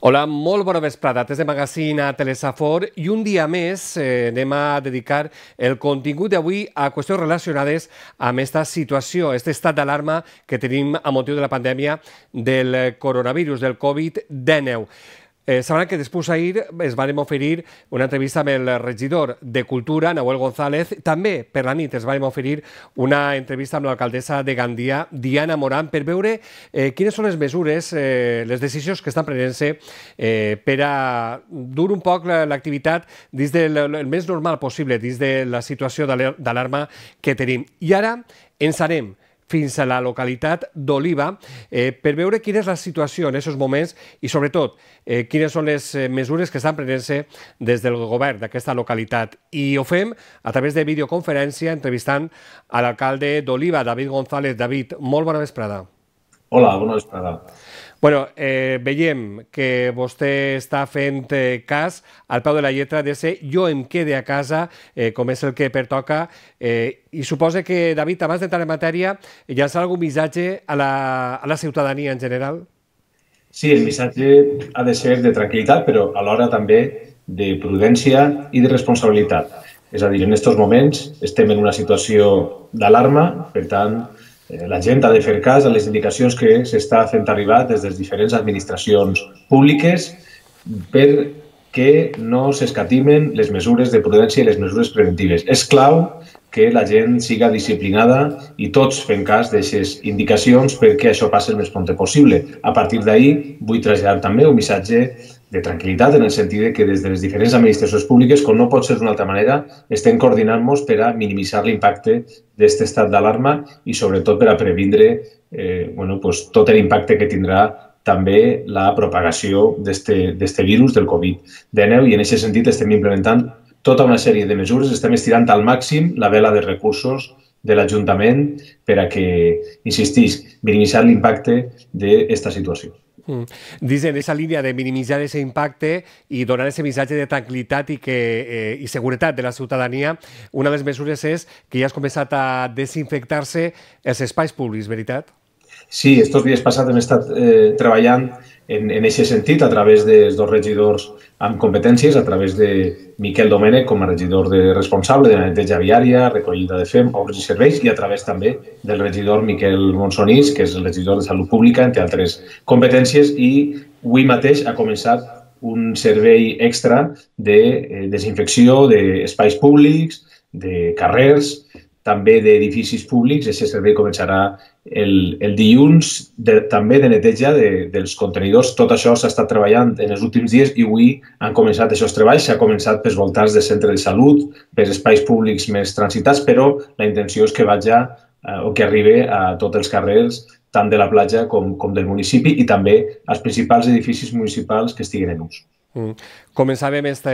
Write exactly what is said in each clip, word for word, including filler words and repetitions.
Hola, molt bona vesprada. Des de Magazine a Telesafor i un dia més eh, anem a dedicar el contingut d'avui a qüestions relacionades amb aquesta situació, aquest estat d'alarma que tenim a motiu de la pandèmia del coronavirus, del Covid dinou. Eh, sabran que després ahir es van oferir una entrevista amb el regidor de Cultura, Nahuel González. També per la nit es van oferir una entrevista amb l'alcaldessa de Gandia, Diana Morán, per veure eh, quines són les mesures, eh, les decisions que estan prenent-se eh, per a dur un poc l'activitat dins del el més normal possible, dins de la situació d'alarma que tenim. I ara ens anem fins a la localitat d'Oliva eh, per veure quina és la situació en aquests moments i, sobretot, eh, quines són les mesures que estan prenent-se des del govern d'aquesta localitat. I ho fem a través de videoconferència entrevistant a l'alcalde d'Oliva, David González. David, molt bona vesprada. Hola, bona vesprada. Bueno, eh, veiem que vostè està fent eh, cas al peu de la lletra de ser jo em quede a casa, eh, com és el que pertoca, eh, i suposa que, David, abans d'entrar en matèria, llançar algun missatge a la, a la ciutadania en general? Sí, el missatge ha de ser de tranquil·litat, però alhora també de prudència i de responsabilitat. És a dir, en aquests moments estem en una situació d'alarma, per tant, la gent ha de fer cas a les indicacions que s'està fent arribar des de les diferents administracions públiques perquè no s'escatimen les mesures de prudència i les mesures preventives. És clau que la gent siga disciplinada i tots fem cas d'aquestes indicacions perquè això passi el més prompte possible. A partir d'ahir vull traslladar també un missatge de tranquil·litat en el sentit que des de les diferents administracions públiques, com no pot ser d'una altra manera, estem coordinant-nos per a minimitzar l'impacte d'aquest estat d'alarma i sobretot per a previndre eh, bueno, pues, tot l'impacte que tindrà també la propagació d'aquest virus, del Covid dinou, i en aquest sentit estem implementant tota una sèrie de mesures, estem estirant al màxim la vela de recursos de l'Ajuntament per a que, insistís, minimitzar l'impacte d'aquesta situació. Mm. Dins d'aquesta línia de minimitzar aquest impacte i donar aquest missatge de tranquil·litat i, que, eh, i seguretat de la ciutadania, una de les mesures és que ja has començat a desinfectar-se els espais públics, veritat? Sí, estos dies passats hem estat eh, treballant en aquest sentit a través dels dos regidors amb competències, a través de Miquel Domènech com a regidor de responsable de la neteja viària, recollida de fem, obres i serveis, i a través també del regidor Miquel Monsonís, que és el regidor de Salut Pública, entre altres competències, i avui mateix ha començat un servei extra de desinfecció d'espais públics, de carrers, també d'edificis públics. Aquest servei començarà el, el dilluns, de, també de neteja de, dels contenidors. Tot això s'ha estat treballant en els últims dies i avui han començat aquests treballs. S'ha començat pels voltants de centre de salut, per espais públics més transitats, però la intenció és que vagi eh, o que arribi a tots els carrers, tant de la platja com, com del municipi, i també als principals edificis municipals que estiguin en ús. Mm. Començàvem esta,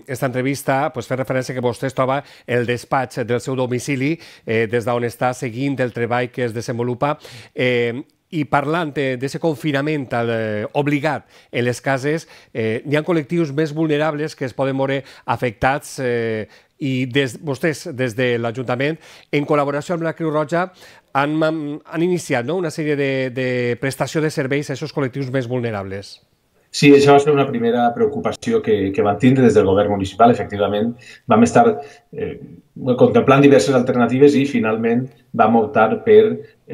esta entrevista pues, fer referència que vostè es troba el despatx del seu domicili, eh, des d'on està seguint el treball que es desenvolupa, eh, i parlant d'aquest confinament eh, obligat en les cases, eh, hi ha col·lectius més vulnerables que es poden veure afectats eh, i des, vostès, des de l'Ajuntament, en col·laboració amb la Creu Roja, han, han iniciat no? una sèrie de, de prestació de serveis a aquests col·lectius més vulnerables. Sí, això va ser una primera preocupació que, que van tindre des del govern municipal. Efectivament, vam estar eh, contemplant diverses alternatives i finalment vam optar per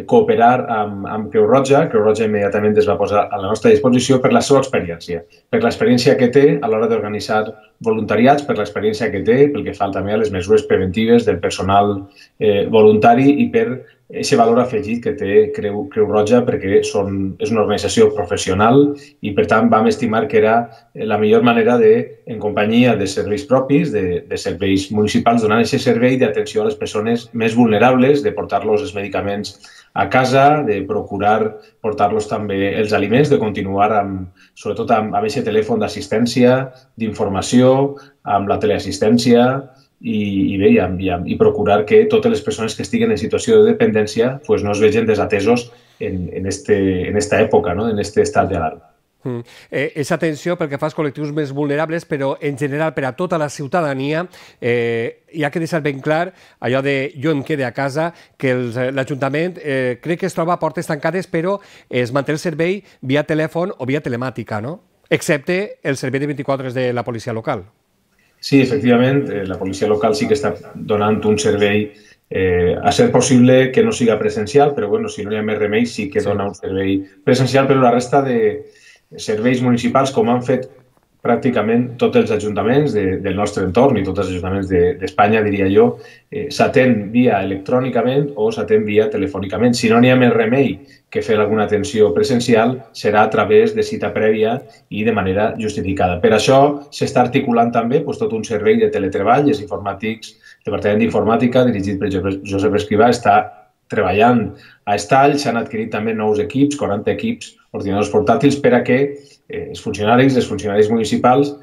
cooperar amb, amb Creu Roja. Creu Roja immediatament es va posar a la nostra disposició per la seva experiència, per l'experiència que té a l'hora d'organitzar voluntariats, per l'experiència que té pel que fa també a les mesures preventives del personal eh, voluntari i per aquest valor afegit que té Creu, Creu Roja, perquè són, és una organització professional i, per tant, vam estimar que era la millor manera de, en companyia de serveis propis, de, de serveis municipals, donar aquest servei d'atenció a les persones més vulnerables, de portar-los els medicaments a casa, de procurar portar-los també els aliments, de continuar amb, sobretot amb aquest telèfon d'assistència, d'informació, amb la teleassistència, i, i bé, i, i procurar que totes les persones que estiguen en situació de dependència pues, no es vegin desatesos en, en, este, en esta època, no? en este estat d'alarma. Mm. Eh, és atenció pel que fa als col·lectius més vulnerables, però en general per a tota la ciutadania eh, hi ha que deixar ben clar allò de jo em quede a casa, que l'Ajuntament eh, crec que es troba a portes tancades, però es manté el servei via telèfon o via telemàtica, no? Excepte el servei de vint-i-quatre hores de la policia local. Sí, efectivament, la policia local sí que està donant un servei, eh, a ser possible que no siga presencial, però bueno, si no hi ha més remei sí que dona un servei presencial, però la resta de serveis municipals, com han fet pràcticament tots els ajuntaments de, del nostre entorn i tots els ajuntaments d'Espanya, de, diria jo, eh, s'atén via electrònicament o s'atén via telefònicament. Si no n'hi ha més remei que fer alguna atenció presencial, serà a través de cita prèvia i de manera justificada. Per això s'està articulant també doncs, tot un servei de teletreball, els informàtics, el Departament d'Informàtica, dirigit per Josep Escrivà, està treballant a Estall, s'han adquirit també nous equips, quaranta equips, ordinadors portàtils, per a que eh, els funcionaris, els funcionaris municipals,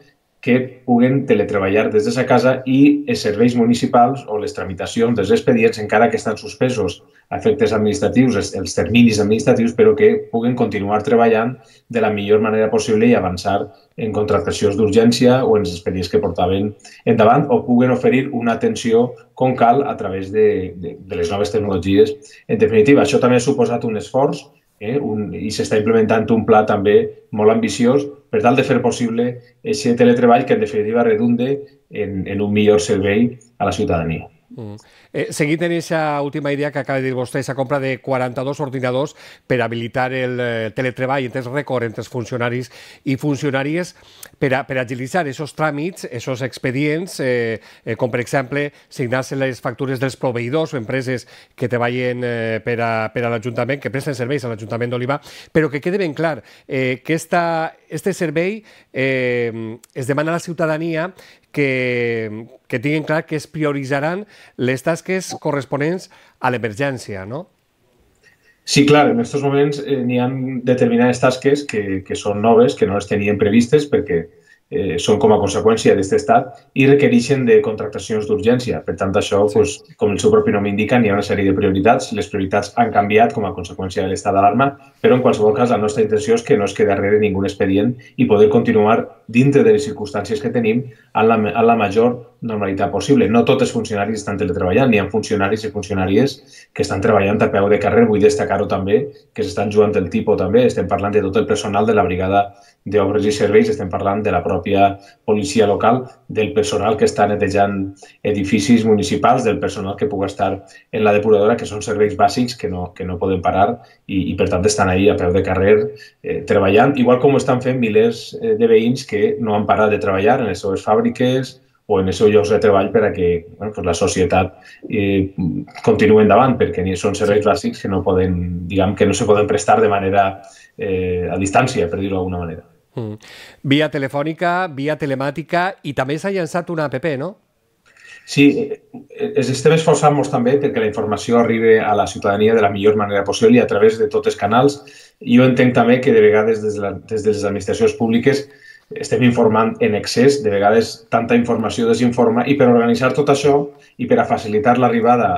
que puguen teletreballar des de sa casa i els serveis municipals o les tramitacions dels expedients, encara que estan suspesos a efectes administratius, els, els terminis administratius, però que puguen continuar treballant de la millor manera possible i avançar en contractacions d'urgència o en els expedients que portaven endavant, o puguen oferir una atenció com cal a través de, de, de les noves tecnologies. En definitiva, això també ha suposat un esforç eh, un, i s'està implementant un pla també molt ambiciós per tal de fer possible aquest teletreball que en definitiva redunde en, en un millor servei a la ciutadania. Mm. Eh, seguint en aquesta última idea que acaba de dir vostè, aquesta compra de quaranta-dos ordinadors per habilitar el eh, teletreball en temps rècord entre els funcionaris i funcionàries per, a, per agilitzar aquests tràmits, aquests expedients, eh, eh, com per exemple signar-se les factures dels proveïdors o empreses que treballen eh, per a, per a l'Ajuntament, que presten serveis a l'Ajuntament d'Oliva, però que quede ben clar eh, que esta, este servei eh, es demana a la ciutadania que, que tinguin clar que es prioritzaran les tasques corresponents a l'emergència, no? Sí, clar, en aquests moments eh, n'hi ha determinades tasques que, que són noves, que no les tenien previstes perquè eh, són com a conseqüència d'aquest estat i requereixen de contractacions d'urgència. Per tant, això, sí. pues, com el seu propi nom indica, n'hi ha una sèrie de prioritats. Les prioritats han canviat com a conseqüència de l'estat d'alarma, però en qualsevol cas la nostra intenció és que no es quedi darrere ningú expedient i poder continuar dintre de les circumstàncies que tenim en la, en la major normalitat possible. No tots els funcionaris estan teletreballant, n'hi ha funcionaris i funcionàries que estan treballant a peu de carrer. Vull destacar-ho també, que s'estan jugant el tipus també. Estem parlant de tot el personal de la brigada d'obres i serveis, estem parlant de la pròpia policia local, del personal que està netejant edificis municipals, del personal que pugui estar en la depuradora, que són serveis bàsics que no, que no poden parar i, i per tant estan ahí a peu de carrer eh, treballant, igual com ho estan fent milers eh, de veïns que no han parat de treballar en les seves fàbriques o en els seus llocs de treball per a que bueno, pues la societat eh, continuï endavant, perquè són serveis bàsics que no poden, diguem, que no se poden prestar de manera eh, a distància, per dir-ho d'alguna manera. Mm. Via telefònica, via telemàtica i també s'ha llançat una app, no? Sí, ens estem esforçant-nos també perquè la informació arribi a la ciutadania de la millor manera possible i a través de tots els canals. Jo entenc també que de vegades des de, la, des de les administracions públiques estem informant en excés, de vegades tanta informació desinforma, i per organitzar tot això i per a facilitar l'arribada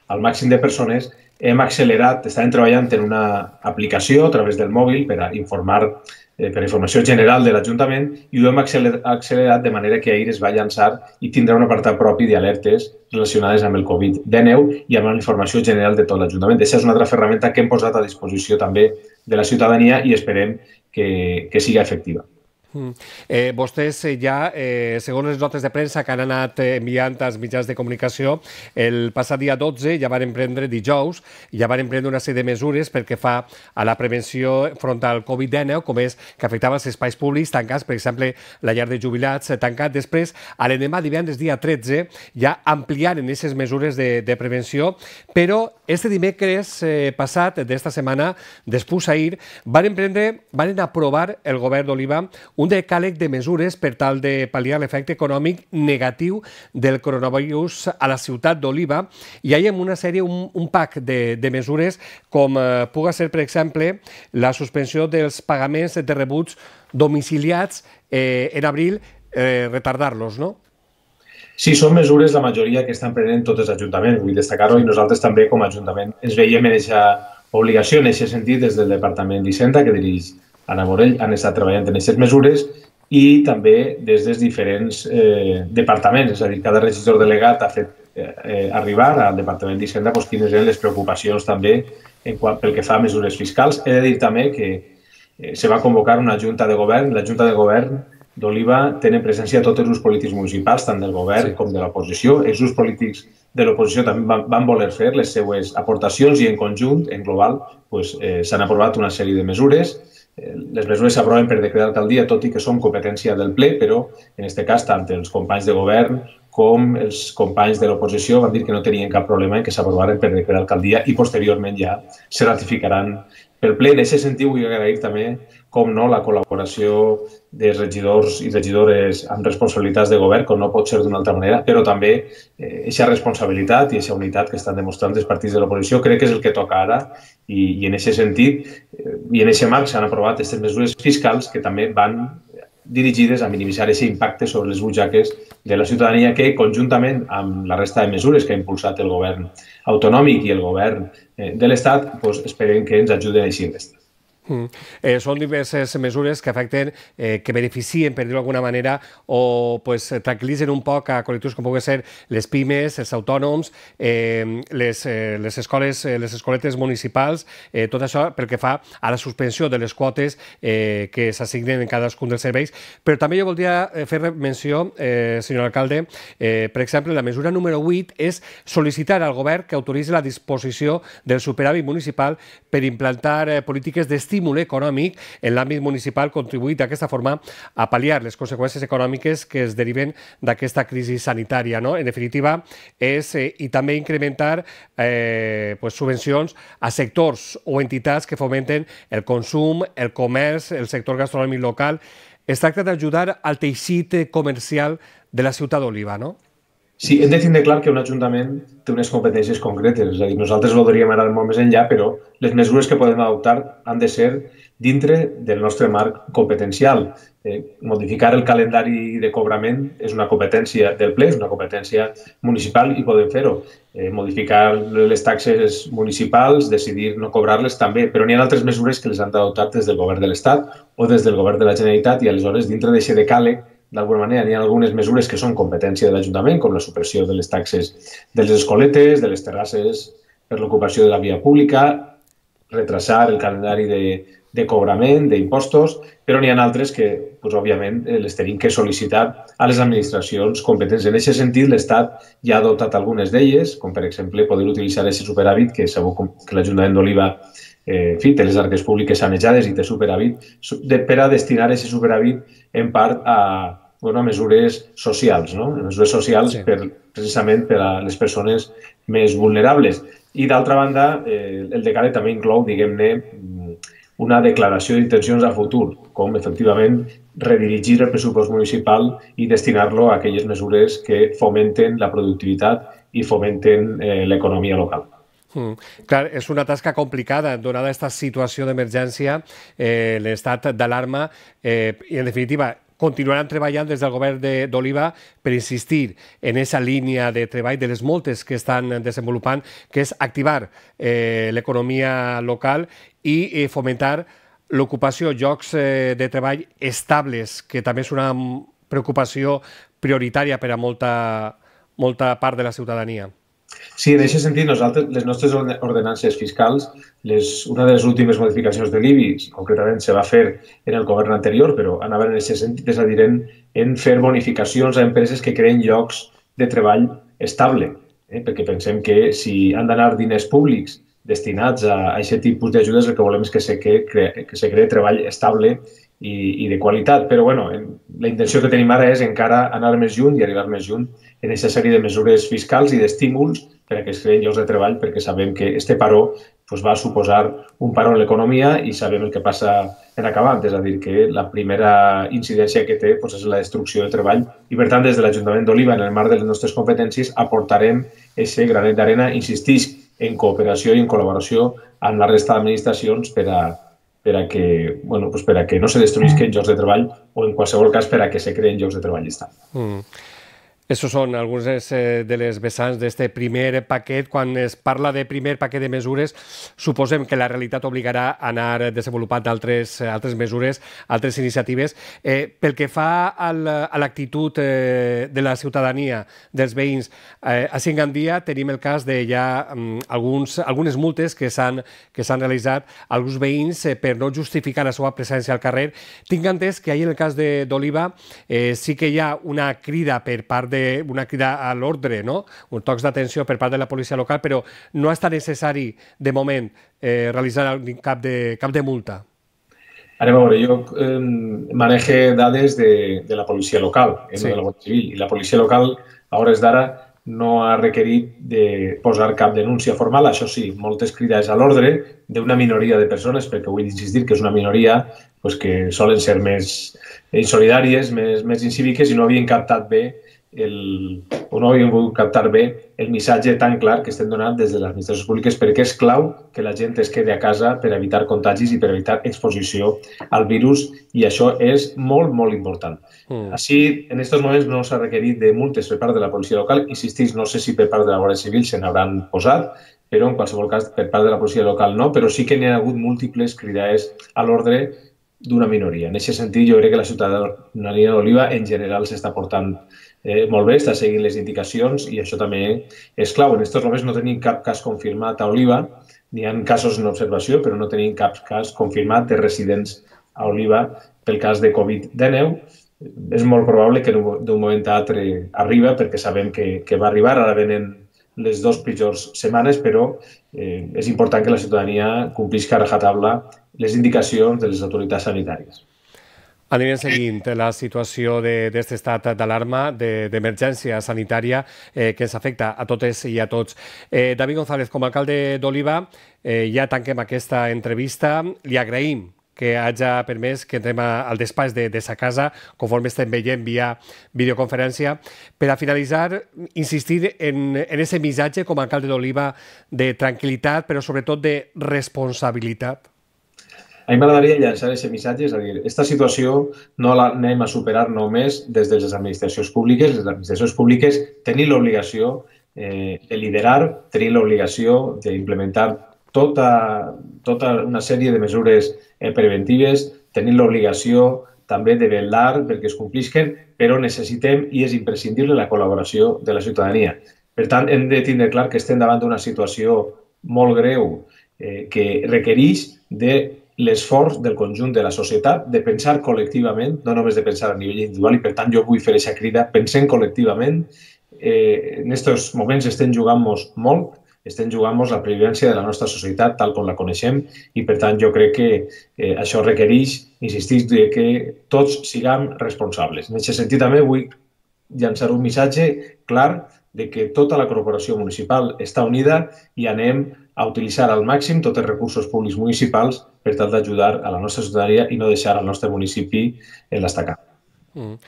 al màxim de persones hem accelerat, estàvem treballant en una aplicació a través del mòbil per a informar eh, per a informació general de l'Ajuntament i ho hem accelerat de manera que ahir es va llançar i tindrà un apartat propi d'alertes relacionades amb el Covid dinou i amb la informació general de tot l'Ajuntament. Aquesta és una altra ferramenta que hem posat a disposició també de la ciutadania i esperem que, que siga efectiva. Mm. Eh, vostès ja, eh, segons les notes de premsa que han anat enviant als mitjans de comunicació, el passat dia dotze ja van emprendre, dijous, ja van emprendre una sèrie de mesures perquè fa a la prevenció front al Covid dinou, com és que afectava els espais públics tancats, per exemple, la llar de jubilats tancat. Després, a l'endemà, divendres, dia tretze, ja ampliaren aquestes mesures de, de prevenció, però este dimecres eh, passat d'esta setmana, després ahir, van emprendre, van aprovar el govern d'Oliva un decàleg de mesures per tal de pal·liar l'efecte econòmic negatiu del coronavirus a la ciutat d'Oliva, i hi ha una sèrie, un, un pack de, de mesures com eh, puga ser, per exemple, la suspensió dels pagaments de rebuts domiciliats eh, en abril, eh, retardar-los, no? Sí, són mesures, la majoria, que estan prenent tots els ajuntaments, vull destacar-ho, i nosaltres també com a Ajuntament ens veiem en aquesta obligació, en aquest sentit, des del Departament d'Hisenda, que dirigeix Anna Morell, han estat treballant en aquestes mesures i també des dels diferents eh, departaments, és a dir, cada regidor delegat ha fet eh, arribar al Departament d'Hisenda pues, quines eren les preocupacions també en qual, pel que fa a mesures fiscals. He de dir també que eh, se va convocar una junta de govern. La junta de govern d'Oliva tenen presència tots els grups polítics municipals, tant del govern sí. com de l'oposició. Els grups polítics de l'oposició també van, van voler fer les seues aportacions i en conjunt, en global, pues, eh, s'han aprovat una sèrie de mesures. Eh, les mesures s'aproven per decret d'alcaldia, tot i que són competència del ple, però en aquest cas tant els companys de govern com els companys de l'oposició van dir que no tenien cap problema en que s'aprovaren per decret d'alcaldia i posteriorment ja se ratificaran pel ple. En aquest sentit vull agrair també, com no, la col·laboració de regidors i regidores amb responsabilitats de govern, com no pot ser d'una altra manera, però també aquesta eh, responsabilitat i aquesta unitat que estan demostrant els partits de l'oposició crec que és el que toca ara i, i en aquest sentit eh, i en aquest marc s'han aprovat aquestes mesures fiscals que també van dirigides a minimitzar aquest impacte sobre les butxaques de la ciutadania que, conjuntament amb la resta de mesures que ha impulsat el govern autonòmic i el govern eh, de l'Estat, doncs esperem que ens ajuden a eixir d'esta. Mm. Eh, són diverses mesures que afecten, eh, que beneficien, per dir-ho d'alguna manera, o pues, tranquil·litzen un poc a col·lectius com poden ser les pimes, els autònoms, eh, les, eh, les escoles, eh, les escoletes municipals, eh, tot això pel que fa a la suspensió de les quotes eh, que s'assignen en cadascun dels serveis. Però també jo voldria fer menció, eh, senyor alcalde, eh, per exemple, la mesura número vuit és sol·licitar al govern que autoritzi la disposició del superàvit municipal per implantar eh, polítiques d'estímul estímul econòmic en l'àmbit municipal contribuït d'aquesta forma a pal·liar les conseqüències econòmiques que es deriven d'aquesta crisi sanitària. No? En definitiva, és eh, i també incrementar eh, pues, subvencions a sectors o entitats que fomenten el consum, el comerç, el sector gastronòmic local. Es tracta d'ajudar al teixit comercial de la ciutat d'Oliva, no? Sí, hem de tindre clar que un ajuntament té unes competències concretes. És a dir, nosaltres voldríem anar molt més enllà, però les mesures que podem adoptar han de ser dintre del nostre marc competencial. Eh, modificar el calendari de cobrament és una competència del ple, és una competència municipal i podem fer-ho. Eh, modificar les taxes municipals, decidir no cobrar-les també, però n'hi ha altres mesures que les han d'adoptar des del govern de l'Estat o des del govern de la Generalitat i aleshores dintre d'aquest decàleg d'alguna manera hi ha algunes mesures que són competència de l'Ajuntament, com la supressió de les taxes de les escoletes, de les terrasses per l'ocupació de la via pública, retrasar el calendari de, de cobrament, d'impostos, però n'hi ha altres que, doncs, òbviament, les tenim que sol·licitar a les administracions competents. En aquest sentit, l'Estat ja ha adoptat algunes d'elles, com per exemple poder utilitzar aquest superàvit que sabeu que l'Ajuntament d'Oliva Eh, en fi, té les arques públiques sanejades i té superàvit, de, per a destinar aquest superàvit en part a, bueno, a mesures socials, no? mesures socials sí. per, precisament per a les persones més vulnerables. I d'altra banda, eh, el decàleg també inclou, diguem-ne, una declaració d'intencions a futur, com efectivament redirigir el pressupost municipal i destinar-lo a aquelles mesures que fomenten la productivitat i fomenten eh, l'economia local. Mm. Clar, és una tasca complicada, donada aquesta situació d'emergència, eh, l'estat d'alarma, eh, i en definitiva continuaran treballant des del govern d'Oliva per insistir en aquesta línia de treball de les moltes que estan desenvolupant, que és activar eh, l'economia local i eh, fomentar l'ocupació, llocs eh, de treball estables, que també és una preocupació prioritària per a molta, molta part de la ciutadania. Sí, en aquest sentit, nosaltres, les nostres ordenances fiscals, les, una de les últimes modificacions de l'I B I, concretament se va fer en el govern anterior, però anaven en aquest sentit, és a dir, en, en fer bonificacions a empreses que creen llocs de treball estable, eh? perquè pensem que si han d'anar diners públics destinats a aquest tipus d'ajudes, el que volem és que se cree, que se cree treball estable i, i de qualitat. Però bueno, la intenció que tenim ara és encara anar més lluny i arribar més lluny en aquesta sèrie de mesures fiscals i d'estímuls per a que es creïn llocs de treball, perquè sabem que este paró pues, va suposar un paró en l'economia i sabem el que passa en acabant, és a dir, que la primera incidència que té pues, és la destrucció de treball i, per tant, des de l'Ajuntament d'Oliva, en el marc de les nostres competències, aportarem aquest granet d'arena, insistisc, en cooperació i en col·laboració amb la resta d'administracions per a, per a que, bueno, pues per a que no se destruïsquen llocs de treball o, en qualsevol cas, per a que se creen llocs de treball estables. Mm. Estos són alguns de les vessants d'aquest primer paquet. Quan es parla de primer paquet de mesures, suposem que la realitat obligarà a anar desenvolupant altres, altres mesures, altres iniciatives. Eh, pel que fa al, a l'actitud eh, de la ciutadania, dels veïns, eh, a Gandia tenim el cas de ja um, alguns, algunes multes que s'han que s'han realitzat a alguns veïns eh, per no justificar la seva presència al carrer. Tinc entès que ahir en el cas d'Oliva eh, sí que hi ha una crida per part de una crida a l'ordre, no? Un tocs d'atenció per part de la policia local, però no està necessari, de moment, eh, realitzar cap de, cap de multa. Ara, a veure, jo eh, manege dades de, de la policia local, eh, sí. no de la Guàrdia Civil, i la policia local, a hores d'ara, no ha requerit de posar cap denúncia formal. Això sí, moltes crides a l'ordre d'una minoria de persones, perquè vull insistir que és una minoria pues, que solen ser més insolidàries, més, més incíviques i no havien captat bé el, o no havien volgut captar bé el missatge tan clar que estem donant des de les administracions públiques, perquè és clau que la gent es quedi a casa per evitar contagis i per evitar exposició al virus, i això és molt, molt important. Mm. Així, en aquests moments no s'ha requerit de multes per part de la policia local. Insistís, no sé si per part de la Guàrdia Civil se n'hauran posat, però en qualsevol cas per part de la policia local no, però sí que n'hi ha hagut múltiples cridades a l'ordre d'una minoria. En aquest sentit, jo crec que la ciutadania d'Oliva en general s'està portant eh, molt bé, està seguint les indicacions, i això també és clau. En aquests moments no tenim cap cas confirmat a Oliva, n'hi ha casos en observació, però no tenim cap cas confirmat de residents a Oliva pel cas de Covid dinou. És molt probable que d'un moment a l'altre arriba, perquè sabem que, que va arribar, ara venen les dues pitjors setmanes, però eh, és important que la ciutadania complisca a rajatabla les indicacions de les autoritats sanitàries. Anirem seguint la situació d'aquest estat d'alarma, d'emergència sanitària eh, que ens afecta a totes i a tots. Eh, David González, com a alcalde d'Oliva, eh, ja tanquem aquesta entrevista. Li agraïm que hagi permès que entrem al despatx de, de sa casa, conforme estem veient via videoconferència. Per a finalitzar, insistir en aquest missatge com a alcalde d'Oliva de tranquil·litat, però sobretot de responsabilitat. A mi m'agradaria llançar aquest missatge, és a dir, aquesta situació no l'anem a superar només des de les administracions públiques. Les administracions públiques tenim l'obligació eh, de liderar, tenim l'obligació d'implementar tota, tota una sèrie de mesures eh, preventives, tenim l'obligació també de vetllar perquè es complisquen, però necessitem i és imprescindible la col·laboració de la ciutadania. Per tant, hem de tindre clar que estem davant d'una situació molt greu eh, que requereix de l'esforç del conjunt de la societat, de pensar col·lectivament, no només de pensar a nivell individual, i per tant jo vull fer aquesta crida, pensem col·lectivament. Eh, en aquests moments estem jugant-nos molt, estem jugant-nos la pervivència de la nostra societat tal com la coneixem, i per tant jo crec que eh, això requereix, insistís, que tots siguem responsables. En aquest sentit també vull llançar un missatge clar de que tota la corporació municipal està unida i anem a utilitzar al màxim tots els recursos públics municipals per tal d'ajudar a la nostra ciutadania i no deixar el nostre municipi en l'estacat. Mm.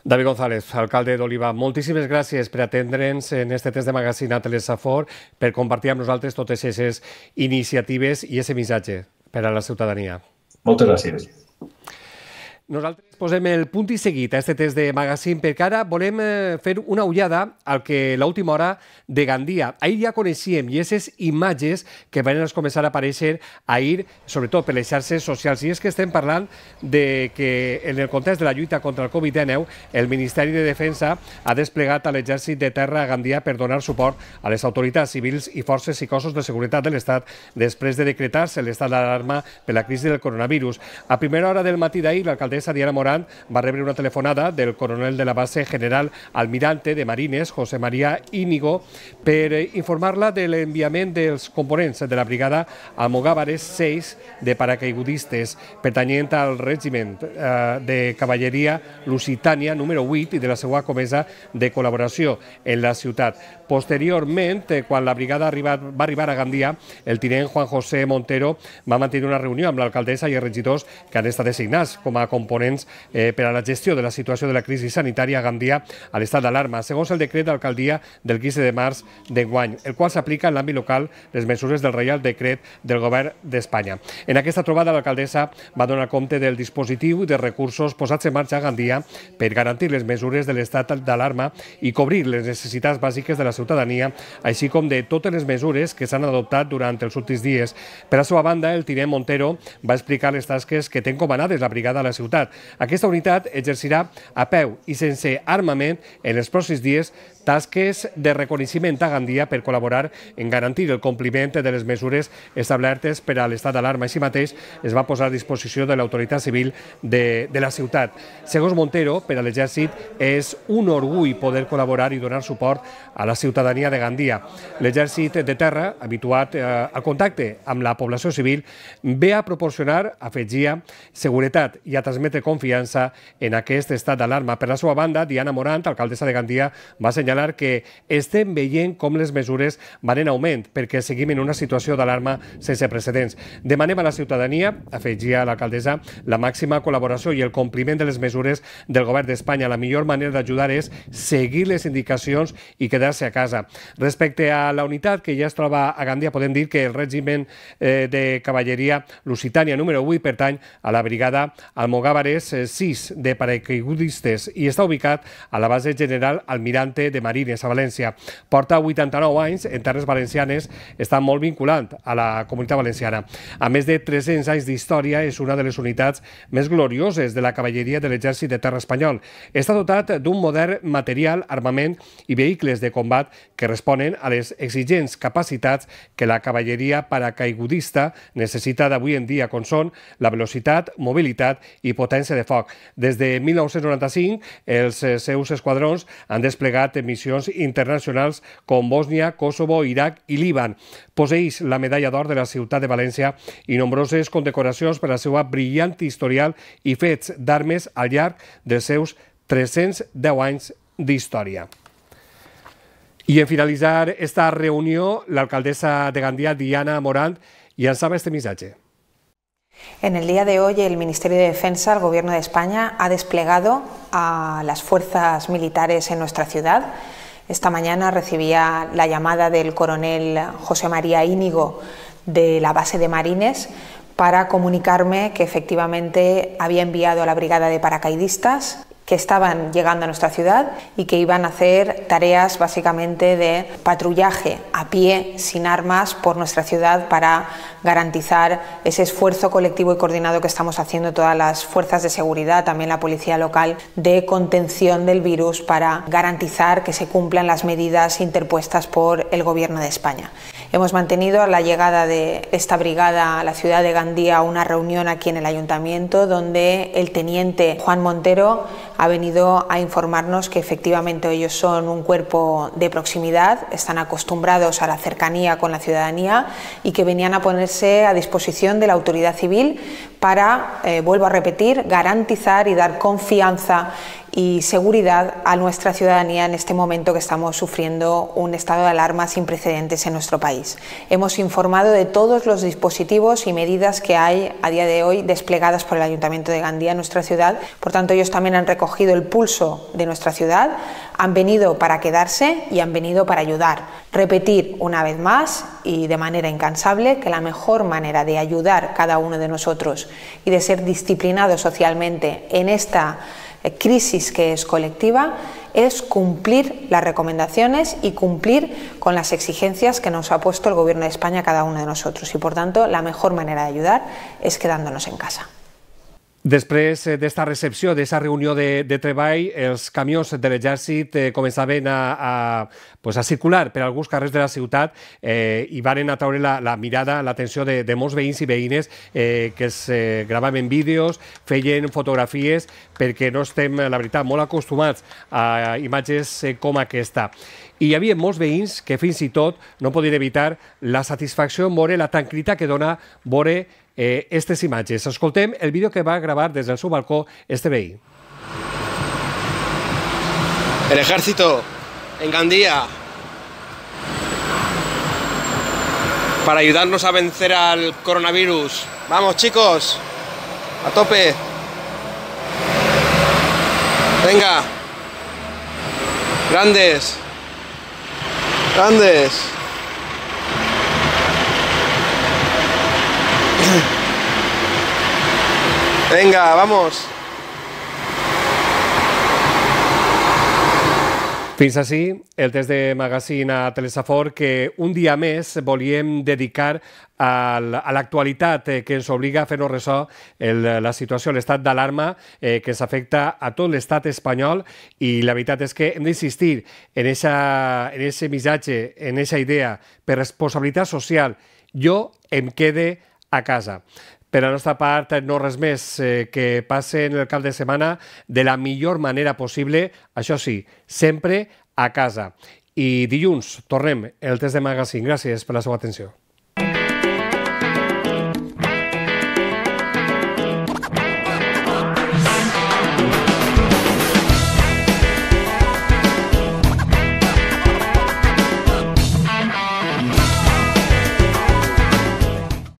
David González, alcalde d'Oliva, moltíssimes gràcies per atendre'ns en aquest temps de magazín a Telesafor, per compartir amb nosaltres totes aquestes iniciatives i aquest missatge per a la ciutadania. Moltes gràcies. Nosaltres posem el punt i seguit a aquest test de magazín perquè ara volem fer una ullada al que l'última hora de Gandia. Ahir ja coneixíem i aquestes imatges que van començar a aparèixer ahir, sobretot per les xarxes socials. I és que estem parlant de que en el context de la lluita contra el Covid dinou el Ministeri de Defensa ha desplegat a l'exèrcit de terra a Gandia per donar suport a les autoritats civils i forces i cossos de seguretat de l'Estat després de decretar-se l'estat d'alarma per la crisi del coronavirus. A primera hora del matí d'ahir, l'alcaldessa Diana Morant va rebre una telefonada del coronel de la base general almirante de Marines, José María Íñigo, per informar-la de l'enviament dels components de la brigada Almogàvares sis de paracaigudistes pertanyent al regiment eh, de cavalleria Lusitània número vuit i de la seva comesa de col·laboració en la ciutat. Posteriorment, quan la brigada arriba, va arribar a Gandia, el tinent Juan José Montero va mantenir una reunió amb l'alcaldessa i els regidors que han estat designats com a components eh, per a la gestió de la situació de la crisi sanitària a Gandia a l'estat d'alarma, segons el decret d'alcaldia del quinze de març d'enguany, el qual s'aplica en l'àmbit local les mesures del Reial Decret del Govern d'Espanya. En aquesta trobada, l'alcaldessa va donar compte del dispositiu de recursos posats en marxa a Gandia per garantir les mesures de l'estat d'alarma i cobrir les necessitats bàsiques de la ciutadania, així com de totes les mesures que s'han adoptat durant els últims dies. Per a la seva banda, el tinent Montero va explicar les tasques que té encomanades la brigada a la ciutat. Aquesta unitat exercirà a peu i sense armament en els pròxims dies tasques de reconeixement a Gandia per col·laborar en garantir el compliment de les mesures establertes per a l'estat d'alarma. Així mateix es va posar a disposició de l'autoritat civil de, de la ciutat. Segons Montero, per a l'exèrcit és un orgull poder col·laborar i donar suport a la ciutadania de Gandia. L'exèrcit de terra, habituat eh, al contacte amb la població civil, ve a proporcionar, afegia, seguretat i a transmetre confiança en aquest estat d'alarma. Per la seva banda, Diana Morant, alcaldessa de Gandia, va assenyalar que estem veient com les mesures van en augment perquè seguim en una situació d'alarma sense precedents. Demanem a la ciutadania, afegia l'alcaldessa, la màxima col·laboració i el compliment de les mesures del Govern d'Espanya. La millor manera d'ajudar és seguir les indicacions i quedar-se a casa. Respecte a la unitat que ja es troba a Gandia, podem dir que el règim eh, de cavalleria Lusitània número vuit pertany a la brigada Almogàvares sis de paracaigudistes i està ubicat a la base general Almirante de Marines, a València. Porta vuitanta-nou anys en terres valencianes, està molt vinculant a la comunitat valenciana. A més de tres-cents anys d'història, és una de les unitats més glorioses de la cavalleria de l'exèrcit de terra espanyol. Està dotat d'un modern material, armament i vehicles de combat que responen a les exigents capacitats que la cavalleria paracaigudista necessita d'avui en dia, com són la velocitat, mobilitat i potència de foc. Des de mil nou-cents noranta-cinc, els seus esquadrons han desplegat missions internacionals com Bòsnia, Kosovo, Iraq i Líban. Posseeix la medalla d'or de la ciutat de València i nombroses condecoracions per la seva brillant historial i fets d'armes al llarg dels seus tres-cents deu anys d'història. I en finalitzar esta reunió, l'alcaldessa de Gandia, Diana Morant, llançava este missatge. En el día de hoy el Ministerio de Defensa, el Gobierno de España, ha desplegado a las fuerzas militares en nuestra ciudad. Esta mañana recibía la llamada del coronel José María Íñigo de la base de Marines para comunicarme que efectivamente había enviado a la brigada de paracaidistas que estaban llegando a nuestra ciudad y que iban a hacer tareas básicamente de patrullaje a pie, sin armas, por nuestra ciudad para garantizar ese esfuerzo colectivo y coordinado que estamos haciendo todas las fuerzas de seguridad, también la policía local, de contención del virus para garantizar que se cumplan las medidas interpuestas por el Gobierno de España. Hemos mantenido a la llegada de esta brigada a la ciudad de Gandía una reunión aquí en el Ayuntamiento donde el teniente Juan Montero ha venido a informarnos que efectivamente ellos son un cuerpo de proximidad, están acostumbrados a la cercanía con la ciudadanía y que venían a ponerse a disposición de la autoridad civil para, eh, vuelvo a repetir, garantizar y dar confianza y seguridad a nuestra ciudadanía en este momento que estamos sufriendo un estado de alarma sin precedentes en nuestro país. Hemos informado de todos los dispositivos y medidas que hay a día de hoy desplegadas por el Ayuntamiento de Gandía en nuestra ciudad. Por tanto, ellos también han recogido el pulso de nuestra ciudad, han venido para quedarse y han venido para ayudar. Repetir una vez más y de manera incansable que la mejor manera de ayudar cada uno de nosotros y de ser disciplinados socialmente en esta crisis que es colectiva es cumplir las recomendaciones y cumplir con las exigencias que nos ha puesto el Gobierno de España a cada uno de nosotros y por tanto la mejor manera de ayudar es quedándonos en casa. Després d'esta recepció, d'esta reunió de, de treball, els camions de l'exèrcit eh, començaven a, a, pues a circular per alguns carrers de la ciutat eh, i van atraure la, la mirada, l'atenció de, de molts veïns i veïnes eh, que es eh, gravaven vídeos, feien fotografies, perquè no estem, la veritat, molt acostumats a imatges eh, com aquesta. I hi havia molts veïns que fins i tot no podien evitar la satisfacció en veure la tranquil·litat que dona veure eh, aquestes imatges. Escoltem el vídeo que va gravar des del seu balcó este veí. El ejército en Gandía para ayudarnos a vencer al coronavirus. Vamos, chicos, a tope. Venga. Grandes. Grandes. Venga, vamos. Fins així el test de magazín a Telesafor que un dia més volíem dedicar a l'actualitat que ens obliga a fer-nos ressò el, la situació, l'estat d'alarma eh, que ens afecta a tot l'estat espanyol, i la veritat és que hem d'insistir en aquest missatge, en aquesta idea, per responsabilitat social. Jo em quede a casa. Per la nostra part, no res més, eh, que passen el cap de setmana de la millor manera possible, això sí, sempre a casa. I dilluns tornem el test de magazín. Gràcies per la seva atenció.